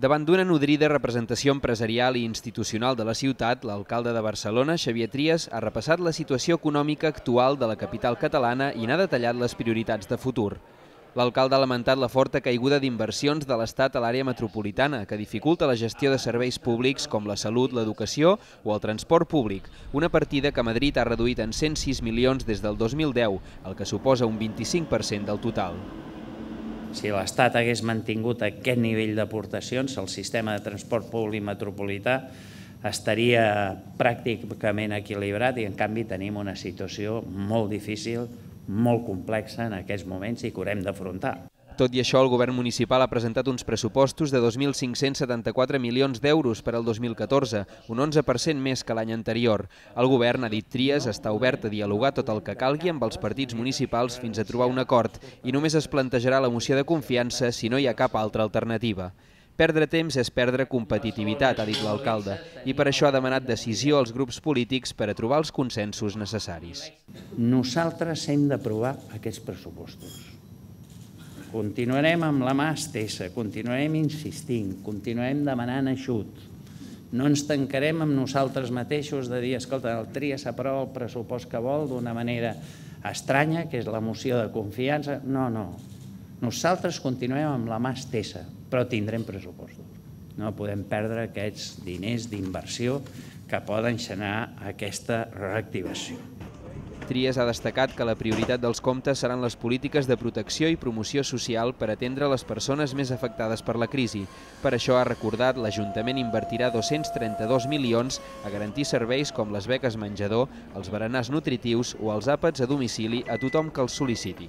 Davant d'una nodrida representació empresarial i institucional de la ciutat, l'alcalde de Barcelona, Xavier Trias, ha repassat la situació econòmica actual de la capital catalana i n'ha detallat les prioritats de futur. L'alcalde ha lamentat la forta caiguda d'inversions de l'Estat a l'àrea metropolitana, que dificulta la gestió de serveis públics com la salut, l'educació o el transport públic, una partida que Madrid ha reduït en 106 milions des del 2010, el que suposa un 25% del total. Si l'Estat hagués mantingut aquest nivell d'aportacions, el sistema de transport públic metropolità estaria pràcticament equilibrat i en canvi tenim una situació molt difícil, molt complexa en aquests moments i que haurem d'afrontar. Tot i això, el govern municipal ha presentat uns pressupostos de 2.574 milions d'euros per al 2014, un 11% més que l'any anterior. El govern, ha dit Trias, està obert a dialogar tot el que calgui amb els partits municipals fins a trobar un acord i només es plantejarà la moció de confiança si no hi ha cap altra alternativa. Perdre temps és perdre competitivitat, ha dit l'alcalde, i per això ha demanat decisió als grups polítics per a trobar els consensos necessaris. Nosaltres hem d'aprovar aquests pressupostos. Continuarem amb la mà estesa, continuarem insistint, continuarem demanant ajut. No ens tancarem amb nosaltres mateixos de dir, escolta, el Trias s'aprova el pressupost que vol d'una manera estranya, que és la moció de confiança. No. Nosaltres continuem amb la mà estesa, però tindrem pressupostos. No podem perdre aquests diners d'inversió que poden generar aquesta reactivació. Trias ha destacat que la prioritat dels comptes seran les polítiques de protecció i promoció social per atendre les persones més afectades per la crisi. Per això ha recordat que l'Ajuntament invertirà 232 milions a garantir serveis com les beques menjador, els berenars nutritius o els àpats a domicili a tothom que els sol·liciti.